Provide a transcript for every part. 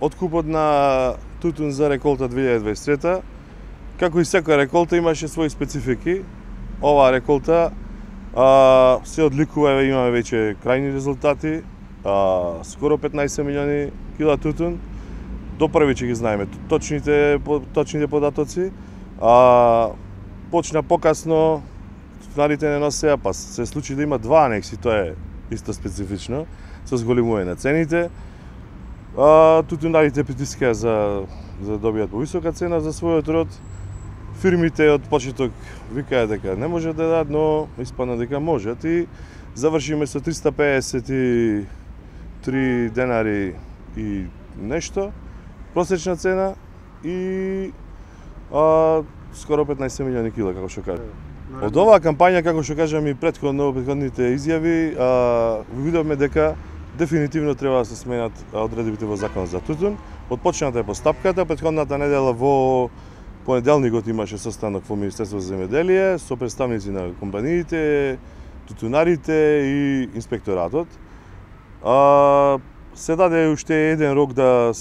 откупот на тутун за реколта 2023, како и секоја реколта имаше своји специфики. Оваа реколта се одликува, имаме веќе крајни резултати, скоро 15 милиони кила тутун. До први ќе ги знаеме точните податоци. Почна покасно, тутунарите не носеа, па се случи да има два анекси, тоа е исто специфично, со зголемување на цените. Тутунарите притискаа за да добијат повисока цена за својот род. Фирмите од почеток викаат дека не можат да дадат, но испадна дека можат и завршиме со 353 денари и нешто просечна цена и скоро 15 милиони кила, како што кажа. Од оваа кампања, како што кажам и предходните изјави, видовме дека дефинитивно треба да се сменат одредбите во законот за тутун. Отпочната е постапката, претходната недела во понеделникот имаше состанок во Министерство за земјоделие со представници на компаниите, тутунарите и инспекторатот. Се даде уште еден рок да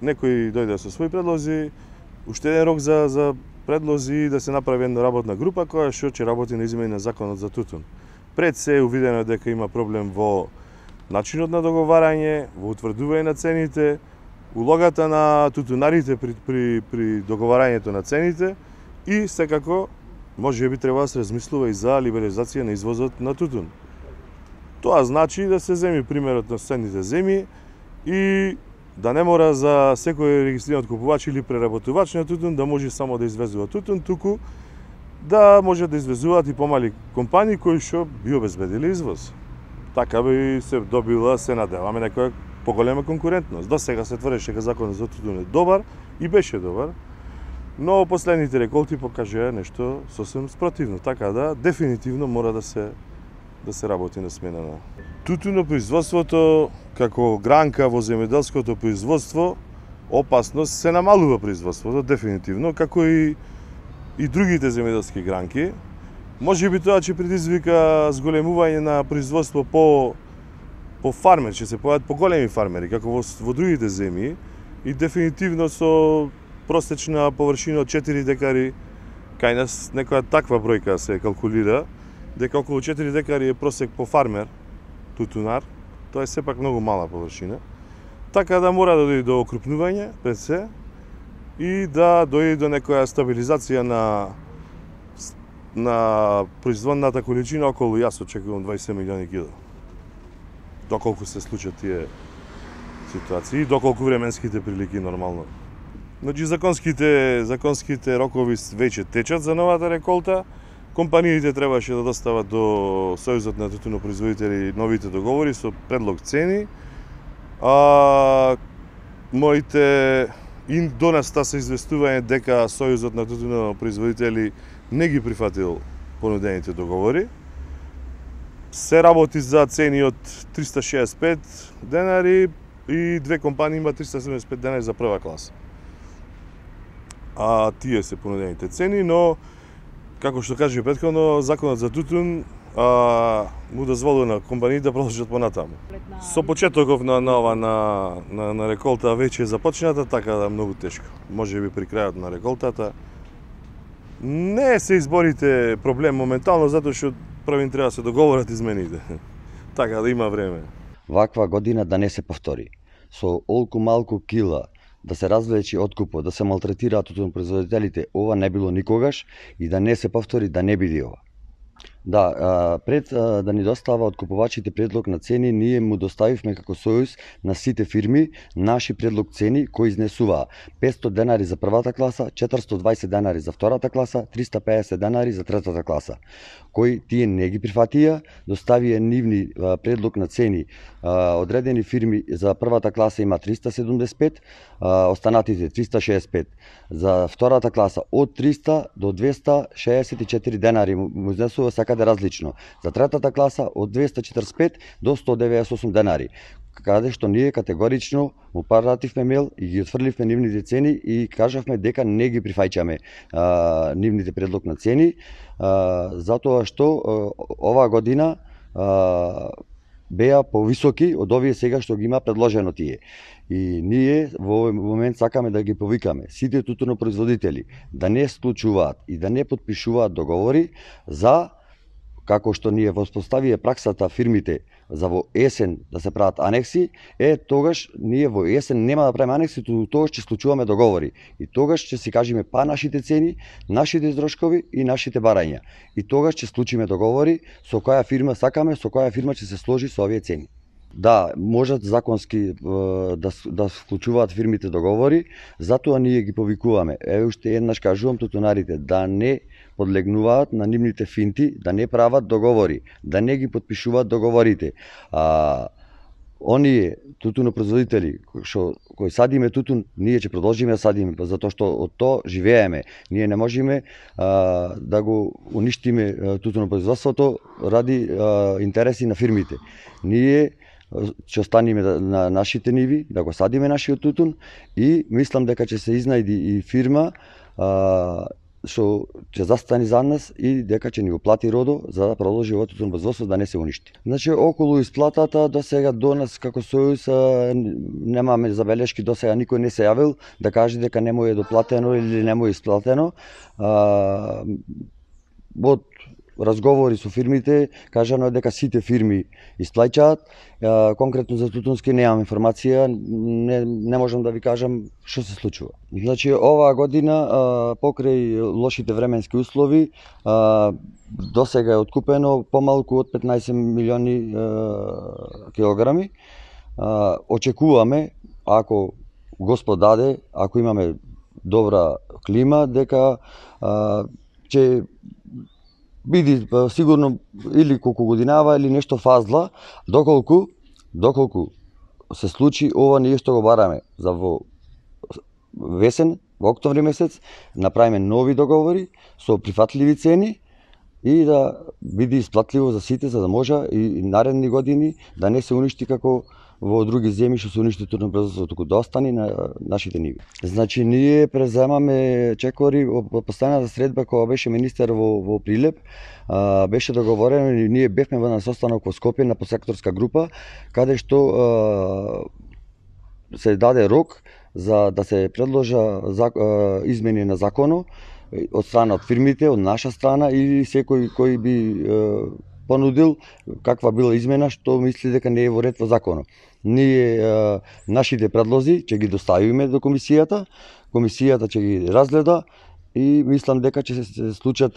некој дојде со своји предлози, уште еден рок за предлози да се направи една работна група која што ќе работи на измени на законот за тутун. Пред се увидено дека има проблем во начинот на договарање, во утврдување на цените, улогата на тутунарите при договарањето на цените и секако можеби треба да се размислува и за либерализација на извозот на тутун. Тоа значи да се земи примерот на соседните земји и да не мора за секој регистриран купувач или преработувач на тутун да може само да извезува тутун, туку да може да извезуваат и помали компании кои што би обезбедили извоз. Така би се добила, се надеваме, некоја поголема конкурентност. До сега се тврдеше дека законот за тутун е добар и беше добар, но последните реколти покажаа нешто сосем спротивно, така да дефинитивно мора да се работи на смена на тутунопроизводството како гранка во земјоделското производство. Опасност се намалува производството дефинитивно, како и другите земјоделски гранки. Можеби тоа ќе предизвика зголемување на производство по фармер, ќе се појават поголеми фармери, како во другите земји, и дефинитивно со просечна површина од 4 декари, кај нас некоја таква бројка се калкулира, дека околу 4 декари е просек по фармер, тутунар, тоа е сепак многу мала површина, така да мора да дојде до окрупнување пред се и да дојде до некоја стабилизација на производната количина околу, јас очекувам 20 милиони кила. Доколку се случат тие ситуации, доколку временските прилики нормално. Значи законските рокови веќе течат за новата реколта. Компаниите требаше да достават до Сојузот на тутунопроизводители новите договори со предлог цени. Моите и до нас се известување дека Сојузот на тутунопроизводители не ги прифатил понудените договори. Се работи за цени од 365 денари и две компании има 375 денари за прва класа. Тие се понудените цени, но како што кажа претходно, законот за тутун му дозволува на компаниите да продолжат понатаму. Со почетоков на реколта веќе е започната, така да многу тешко. Можеби при крајот на реколтата не се изборите проблем моментално, затоа што првин треба да се договорат измените. Така да има време. Ваква година да не се повтори. Со олку малку кила да се развлечи откупот, да се малтретираат тутунопроизводителите, ова не било никогаш и да не се повтори, да не биде ова. Да, пред да ни достава откупувачите предлог на цени, ние му доставивме како Сојуз на сите фирми наши предлог цени кои изнесуваа 500 денари за првата класа, 420 денари за втората класа, 350 денари за третата класа. Кои тие не ги прифатија, доставија нивни предлог на цени. Одредени фирми за првата класа има 375, останатите 365. За втората класа од 300 до 264 денари му изнесува секаде различно. За третата класа од 245 до 198 денари. Каде што ние категорично му пративме мејл и ги отфрливме нивните цени и кажавме дека не ги прифаќаме нивните предлог на цени, затоа што оваа година беа повисоки од овие сега што ги има предложено тие. И ние во овој момент сакаме да ги повикаме сите тутунопроизводители да не склучуваат и да не потпишуваат договори за, како што ние воспоставија праксата фирмите за во есен да се прават анекси, тогаш ние во есен нема да правиме анекси, тогаш ќе склучуваме договори. И тогаш ќе си кажеме па нашите цени, нашите издршкови и нашите барања. И тогаш ќе склучиме договори со која фирма сакаме, со која фирма ќе се сложи со овие цени. Да, можат законски да вклучуваат фирмите договори, затоа ние ги повикуваме. Уште еднаш кажувам тутунарите да не подлегнуваат на нивните финти, да не прават договори, да не ги потпишуваат договорите. Оние тутунопроизводители кои садиме тутун, ние ќе продолжиме да садиме, затоа што од тоа живееме. Ние не можеме да го уништиме тутунопроизводството ради интереси на фирмите. Ние ќе останеме на нашите ниви, да го садиме нашиот тутун и мислам дека ќе се изнајди и фирма што ќе застани за нас и дека ќе ни го плати родо за да продолжи овој тутунопроизводство да не се уништи. Значи околу исплатата до сега до нас како Сојуз немаме забелешки, до сега никој не се јавил да каже дека не му е доплатено или не му е исплатено. Од разговори со фирмите кажано е дека сите фирми исплаќаат. Конкретно за тутунски немам информација, не можам да ви кажам што се случува. Значи оваа година покрај лошите временски услови до сега е откупено помалку од 15 милиони килограми. Очекуваме, ако Господ даде, ако имаме добра клима, дека ќе биде сигурно или колку годинава или нешто фазла, доколку се случи ова ние што го бараме за во весен, во октомври месец, направиме нови договори со прифатливи цени и да биде исплатливо за сите, за да може и наредни години да не се уништи како во други земји што се уништи тутунопроизводството, туку да остане на нашите ниви. Значи ние преземаме чекори во постојната средба кога беше министер во Прилеп, беше договорено и ние бевме на состанок во Скопје на посекторска група каде што се даде рок за да се предложа измени на законот од страна од фирмите, од наша страна или секој кој би понудил каква била измена што мисли дека не е во ред во законот. Ние нашите предлози ќе ги доставиме до комисијата ќе ги разгледа и мислам дека ќе се случат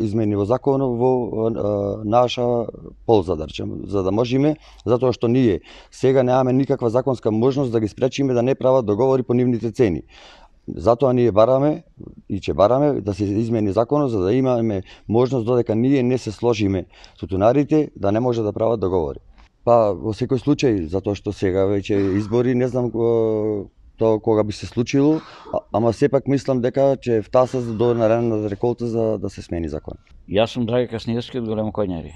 измени во законот во наша полза, да речем, за да можеме, затоа што ние сега немаме никаква законска можност да ги спречиме да не прават договори по нивните цени. Затоа ние бараме и ќе бараме да се измени законот за да имаме можност додека ние не се сложиме тутунарите да не може да прават договори. Па во секој случај, затоа што сега веќе избори, не знам тоа кога би се случило, ама сепак мислам дека ќе втаса до наредната реколта за да се смени закон. Јас сум Драги Касневски од Големо Коњари.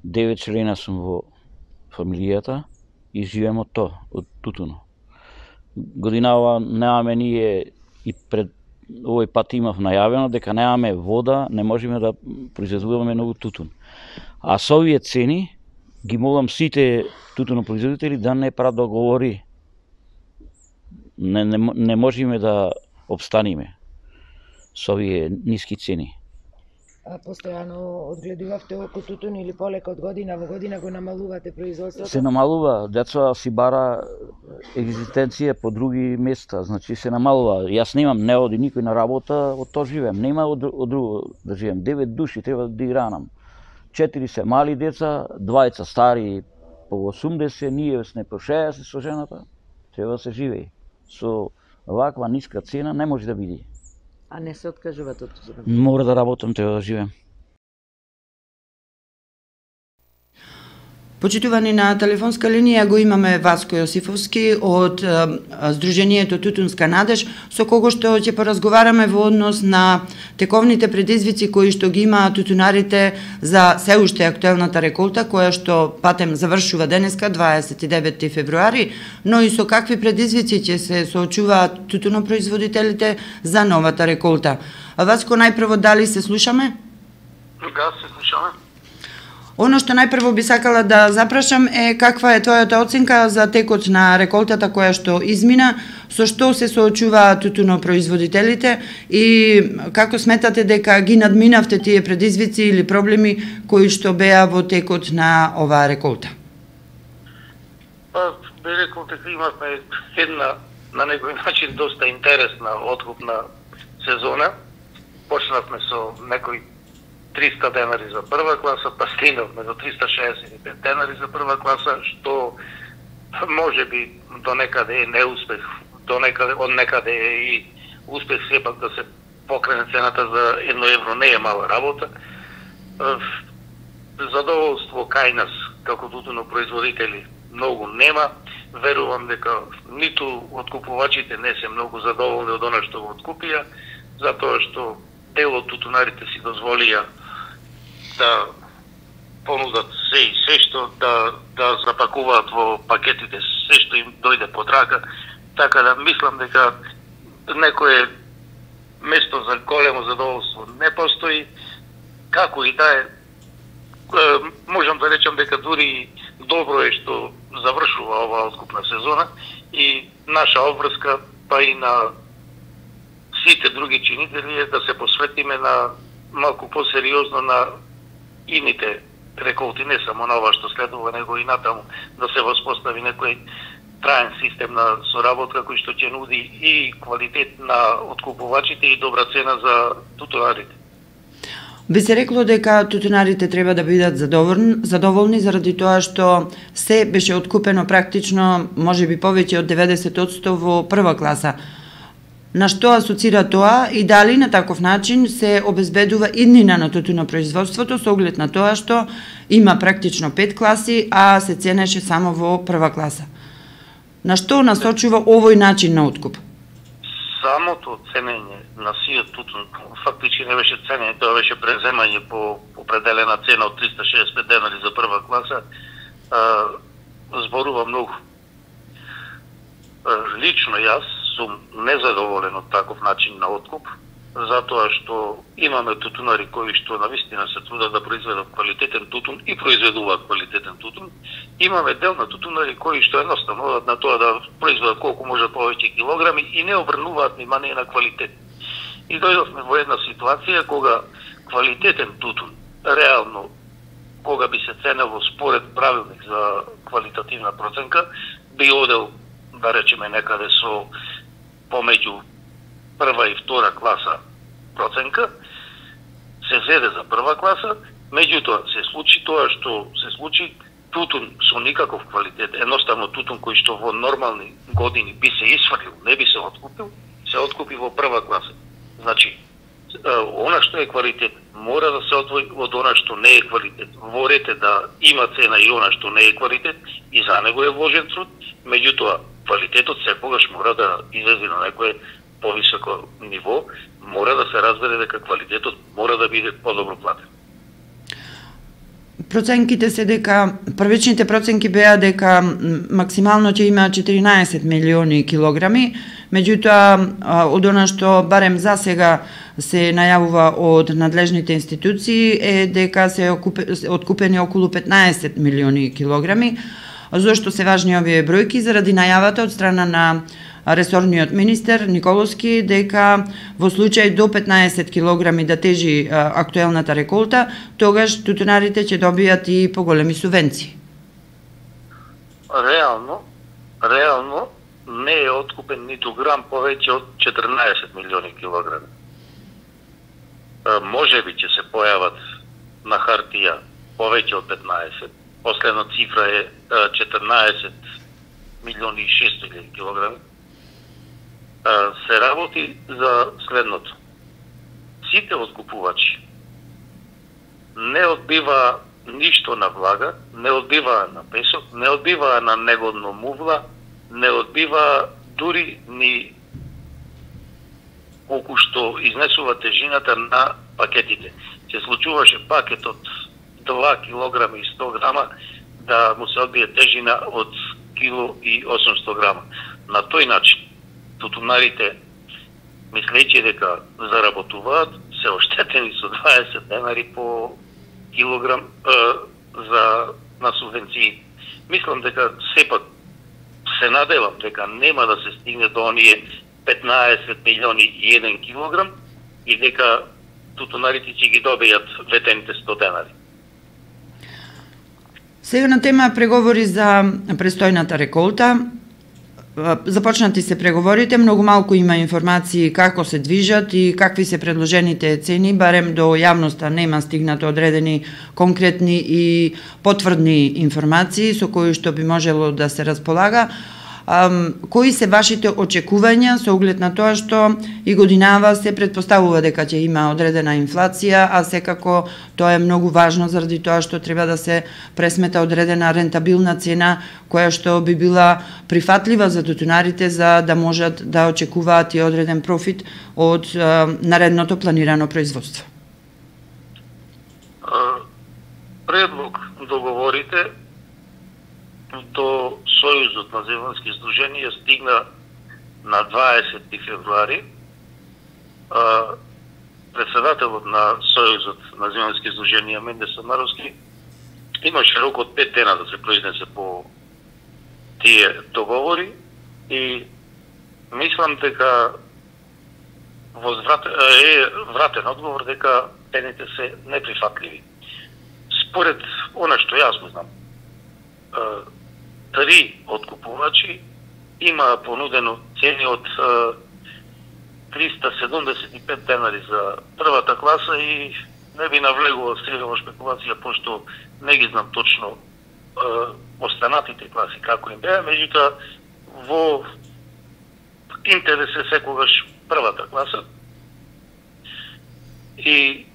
9 члена сум во фамилијата и живеем од тоа, од тутуно. Годинава немаме ние и пред овој пат имав најавено дека немаме вода, не можеме да произведуваме ново тутун. А со овие цени ги молам сите тутунопроизводители да не прават договори. Не можеме да обстанеме со овие ниски цени. Постојано одгледувавте око тутун или полека од година во година го намалувате производството? Се намалува, деца си бара екзистенција по други места, значи се намалува. Јас немам, не оди никој на работа, од тоа живеем. Нема од друго да живеем. 9 души треба да игранам. 4 се мали деца, 2 стари по 80, ние сме по 60 со жената. Треба да се живее. Со ваква ниска цена не може да биде. А не се откажувате од тоа? Мора да работам, треба да живеем. Почитувани, на телефонска линија го имаме Васко Јосифовски од Сдруженијето Тутунска надеж, со кого што ќе поразговараме во однос на тековните предизвици кои што ги имаат тутунарите за се уште актуелната реколта, која што патем завршува денеска, 29 февруари, но и со какви предизвици ќе се соочуваат тутунопроизводителите за новата реколта. Васко, најпрво, дали се слушаме? Да, се слушаме. Оно што најпрво би сакала да запрашам е каква е твојата оценка за текот на реколтата која што измина, со што се соочуваат тутунопроизводителите и како сметате дека ги надминавте тие предизвици или проблеми кои што беа во текот на оваа реколта? Би рекол дека имавме една на некој начин доста интересна откупна сезона. Почнавме со некои 300 денари за прва класа, па стигнавме до 365 денари за прва класа, што може би до некаде е неуспех, од некаде е и успех сепак да се покрене цената за 1 евро, не е мала работа. Задоволство кај нас, како тутунопроизводители, многу нема. Верувам дека ниту откупувачите не се многу задоволни од она што го откупија, затоа што дел од тутунарите си дозволија да понудат се и се што, да запакуваат во пакетите се што им дојде под рака, така да мислам дека некое место за големо задоволство не постои. Како и да е, можам да речам дека дури добро е што завршува оваа откупна сезона и наша обврска, па и на сите други чинители е да се посветиме на малку посериозно на ините реколти, не само на ова што следува, него и натаму да се воспостави некој траен систем на соработка кој што ќе нуди и квалитет на откупувачите и добра цена за тутунарите. Би се рекло дека тутунарите треба да бидат задоволни заради тоа што се беше откупено практично, можеби повеќе од 90% во прва класа. На што асоцира тоа и дали на таков начин се обезбедува иднина на тутунопроизводството со оглед на тоа што има практично 5 класи, а се ценеше само во прва класа? На што насочува овој начин на откуп? Самото ценење на сиот тутун фактички не беше ценење, тоа беше преземање по определена цена од 365 денари за прва класа, зборува многу. Лично јас сум незадоволен од таков начин на откуп, затоа што имаме тутунари кои што навистина се трудат да произведат квалитетен тутун и произведуваат квалитетен тутун. Имаме дел на тутунари кои што едноставно одат на тоа да произведат колку можат повеќе килограми и не обрнуваат внимание на квалитет. И дојдовме во една ситуација кога квалитетен тутун, реално, кога би се ценело според правилник за квалитативна проценка, би одел, да речеме, некаде со помеѓу прва и втора класа проценка, се зеде за прва класа, меѓутоа се случи тоа што се случи, тутун со никаков квалитет, едноставно тутун кој што во нормални години би се исфрлил, не би се откупил, се откупи во прва класа. Значи, она што е квалитет мора да се одвои од она што не е квалитет. Ворете да има цена и она што не е квалитет и за него е вложен труд, меѓутоа квалитетот секогаш мора да излезе на некое повисоко ниво, мора да се разбере дека квалитетот мора да биде подобро платен. Проценките се дека, првичните проценки беа дека максимално ќе има 14 милиони килограми, меѓутоа од она што барем за сега се најавува од надлежните институции е дека се откупени околу 15 милиони килограми. Зошто се важни овие бројки? Заради најавата од страна на ресорниот министер Николовски дека во случај до 15 килограми да тежи актуелната реколта, тогаш тутунарите ќе добијат и поголеми субвенции. Реално не е откупен ниту грам повеќе од 14 милиони килограми. Може би ќе се појават на хартија повеќе од 15. Последна цифра е 14 милиони и 600 килограми. Се работи за следното. Сите откупувачи не одбива ништо на влага, не одбиваа на песок, не одбиваа на негодно мувла, не одбива дури ни колку што изнесува тежината на пакетите. Се случуваше пакет од 2 кг и 100 грама да му се одбие тежина од 1 и 800 грама. На тој начин тутунарите, мислејќи дека заработуваат, се оштетени со 20 денари по килограм, на субвенции. Мислам дека сепак се надевам дека нема да се стигне до оние 15 милиони и 1 килограм и дека тутунарите ќе ги добијат ветените 100 денари. Сега на тема преговори за престојната реколта. Започнати се преговорите, многу малку има информации како се движат и какви се предложените цени, барем до јавноста нема стигнато одредени конкретни и потврдни информации со кои што би можело да се располага. Кои се вашите очекувања со оглед на тоа што и годинава се предпоставува дека ќе има одредена инфлација, а секако тоа е многу важно заради тоа што треба да се пресмета одредена рентабилна цена која што би била прифатлива за тутунарите за да можат да очекуваат и одреден профит од наредното планирано производство. Предлог договорите до Сојузот на земјански здруженија стигна на 20 февруари. Председателот на Сојузот на земјански здруженија Менде Самаровски имаше рок од 5 дена да се произнесе по тие договори и мислам дека вратен одговор дека цените се неприфатливи. Според она што јас го знам, 3 откупувачи има понудено цени од 375 денари за првата класа и не би навлегувал сега во шпекулација, пошто не ги знам точно останатите класи како им беа, меѓутоа во интерес е секогаш првата класа. И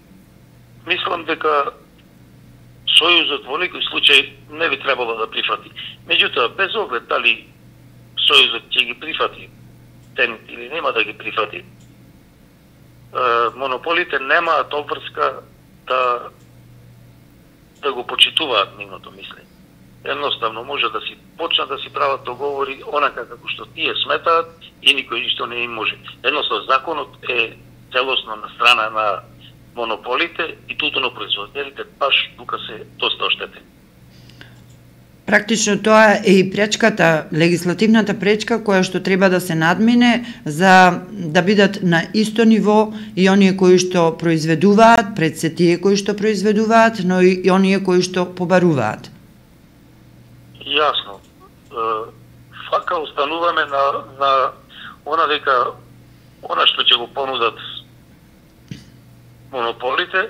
мислам дека Сојузот во некој случај не би требало да прифати. Меѓутоа, без оглед дали Сојузот ќе ги прифати цените или нема да ги прифати, монополите немаат обврска да го почитуваат нивното мислење. Едноставно може да си почнат да си прават договори онака како што тие сметаат и никој ништо не им може. Едноставно законот е целосно на страна на монополите и тутунопроизводителите баш тука се доста оштетени. Практично тоа е и пречката, легислативната пречка која што треба да се надмине за да бидат на исто ниво и оние кои што произведуваат, пред се тие кои што произведуваат, но и оние кои што побаруваат. Јасно. Фака остануваме на она дека она што ќе го понудат монополите,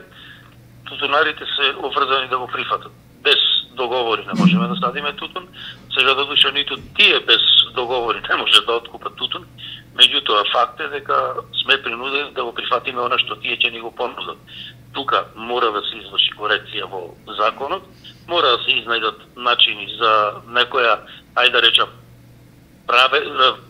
тутунарите се обврзани да го прифатат. Без договори не можеме да садиме тутун, сега додуша ниту тие без договори не може да откупат тутун, меѓутоа факт е дека сме принудени да го прифатиме она што тие ќе ни го понудат. Тука мора да се изврши корекција во законот, мора да се изнајдат начини за некоја, ајде да речам,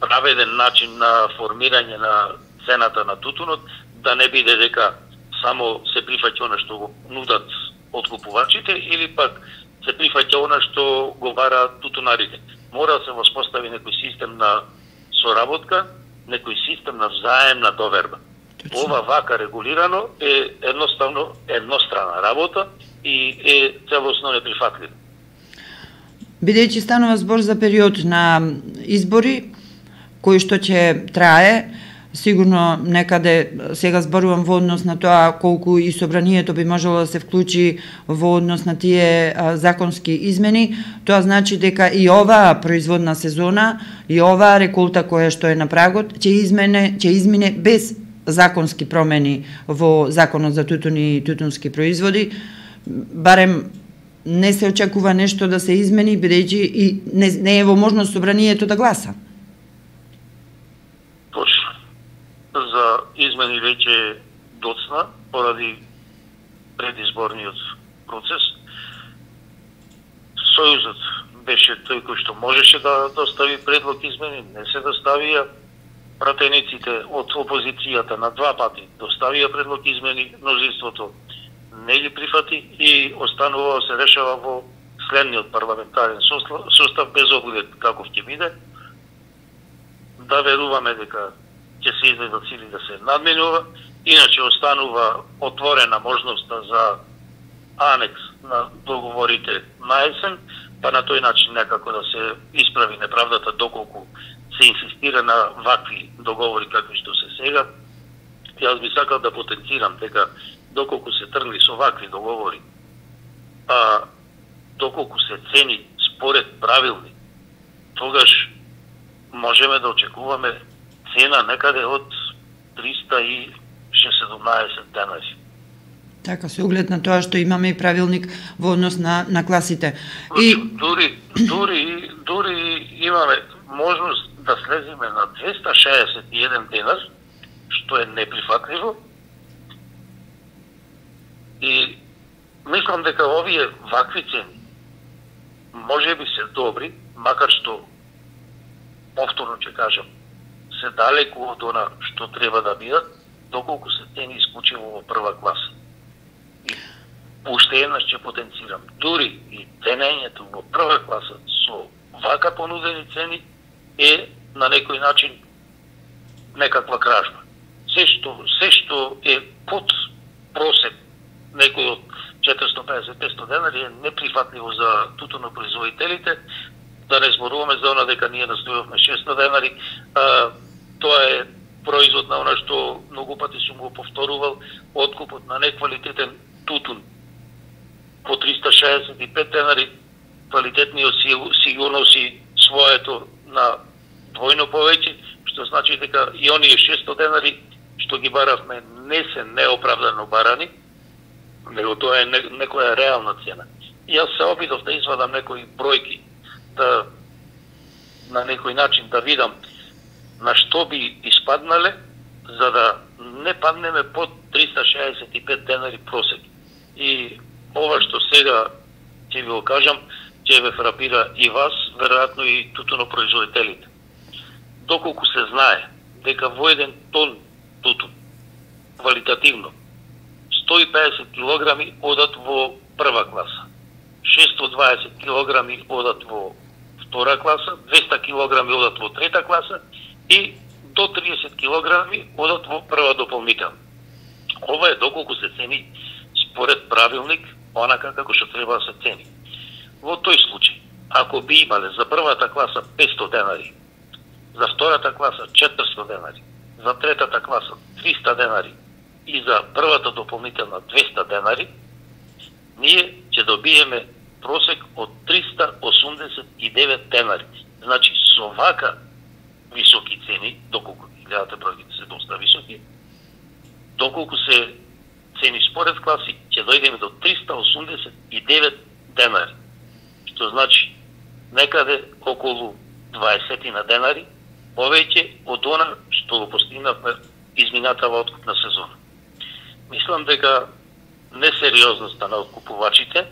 праведен начин на формирање на цената на тутунот, да не биде дека само се прифаќа она што го нудат откупувачите или пак се прифаќа она што го бараат тутунарите. Мора да се воспостави некој систем на соработка, некој систем на взаемна доверба. Ова вака регулирано е едноставно еднострана работа и е целосно неприфатливо. Бидејќи станува збор за период на избори, кој што ќе трае, сигурно некаде сега зборувам во однос на тоа колку и собранието би можело да се вклучи во однос на тие законски измени, тоа значи дека и оваа производна сезона и оваа реколта која што е на прагот ќе измине без законски промени во Законот за тутун и тутунски производи, барем не се очекува нешто да се измени, бидејќи и не е во можност собранието да гласа. Точно. За измени веќе доцна поради предизборниот процес. Сојузот беше тој кој што можеше да достави предлог измени, не се доставија. Пратениците од опозицијата на 2 пати доставија предлог измени, мнозинството не ги прифати и останува се решава во следниот парламентарен состав без оглед каков ќе биде. Да веруваме дека ќе се излезат сили да се надменува, иначе останува отворена можноста за анекс на договорите на есен, па на тој начин некако да се исправи неправдата доколку се инсистира на вакви договори какви што се сега. Јас би сакал да потенцирам дека доколку се тргли со вакви договори, доколку се цени според правилник, тогаш можеме да очекуваме цена некаде од 317 денари. Така, со оглед на тоа што имаме и правилник во однос на класите. И дури имаме можност да слеземе на 261 денар, што е неприфатливо. И мислам дека овие вакви цени може би се добри, макар што, повторно ќе кажам, се далеку од она што треба да бидат, доколку се цени исклучиво во прва класа. И уште еднаш ќе потенцирам, дури и ценењето во прва класа со вака понудени цени е на некој начин некаква кражба. Се што е под просек некој од 450-500 денари е неприфатливо за тутунопроизводителите. Да не зборуваме за она дека ние настојавме 600 денари. Тоа е производ на она што многу пати сум го повторувал, откупот на неквалитетен тутун по 365 денари, квалитетниот си го носи своето на двојно повеќе, што значи дека и оние 600 денари што ги баравме не се неоправдано барани, него тоа е некоја реална цена. И јас се обидов да извадам некои бројки, да на некој начин да видам на што би испаднале, за да не паднеме под 365 денари просек. И ова што сега ќе ви го кажам, ќе ве фрапира и вас, веројатно и тутунопроизводителите. Доколку се знае дека во еден тон тутун, квалитативно, 150 килограми одат во прва класа, 620 килограми одат во втора класа, 200 килограми одат во трета класа и до 30 килограми одат во прва дополнителна. Ова е доколку се цени според правилник, онака како што треба да се цени. Во тој случај, ако би имале за првата класа 500 денари, за втората класа 400 денари, за третата класа 300 денари и за првата дополнителна 200 денари, ние ќе добиеме просек од 389 денари. Значи, со вака високи цени, доколку гледате бројките се доста високи, доколку се цени според класи, ќе дојдеме до 389 денари. Што значи, некаде околу 20 на денари повеќе од она што го постигнавме изминатава откупна сезона. Мислам дека несериозноста на откупувачите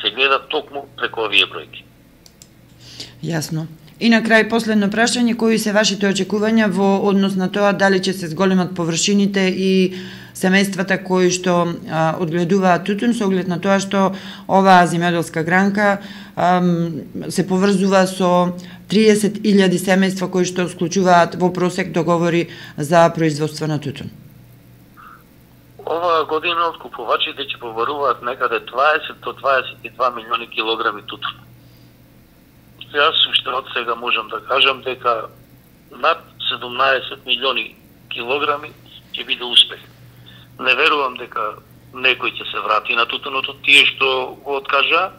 се гледа токму преку овие бројки. Јасно. И на крај последно прашање, кои се вашите очекувања во однос на тоа дали ќе се зголемат површините и семејствата кои што одгледуваат тутун, со оглед на тоа што оваа земјоделска гранка се поврзува со 30.000 семејства кои што склучуваат во просек договори за производство на тутун. Оваа година откупувачите ќе побаруваат некаде 20 до 22 милиони килограми тутун. Јас уште од сега можам да кажам дека над 17 милиони килограми ќе биде успех. Не верувам дека некој ќе се врати на тутуното, тие што го откажа.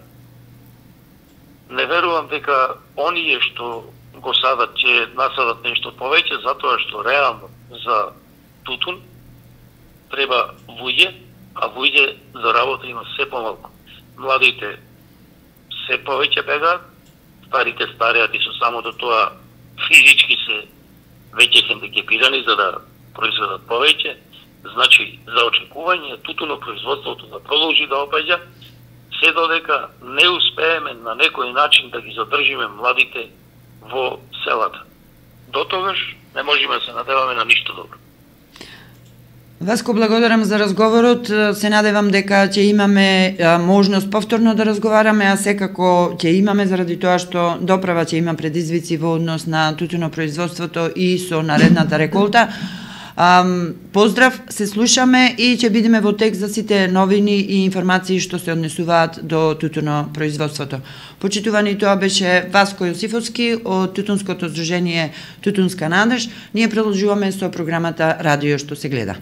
Не верувам дека оние што го садат ќе насадат нешто повеќе, затоа што реално за тутун треба вуѓе, а вуѓе за работа има се помалку. Младите се повеќе бегаат, старите стареат и со самото тоа физички се веќе хендикепирани за да произведат повеќе. Значи, за очекување тутунопроизводството да продолжи да опаѓа, се додека не успееме на некој начин да ги задржиме младите во селата. До тогаш не можеме да се надеваме на ништо добро. Васко, благодарам за разговорот. Се надевам дека ќе имаме можност повторно да разговараме, а секако ќе имаме заради тоа што доправа ќе има предизвици во однос на тутунопроизводството и со наредната реколта. Поздрав, се слушаме и ќе бидеме во текст за сите новини и информации што се однесуваат до тутунопроизводството. Почитувани, тоа беше Васко Јосифовски од Тутунското здружение Тутунска надеж. Ние продолжуваме со програмата Радио што се гледа.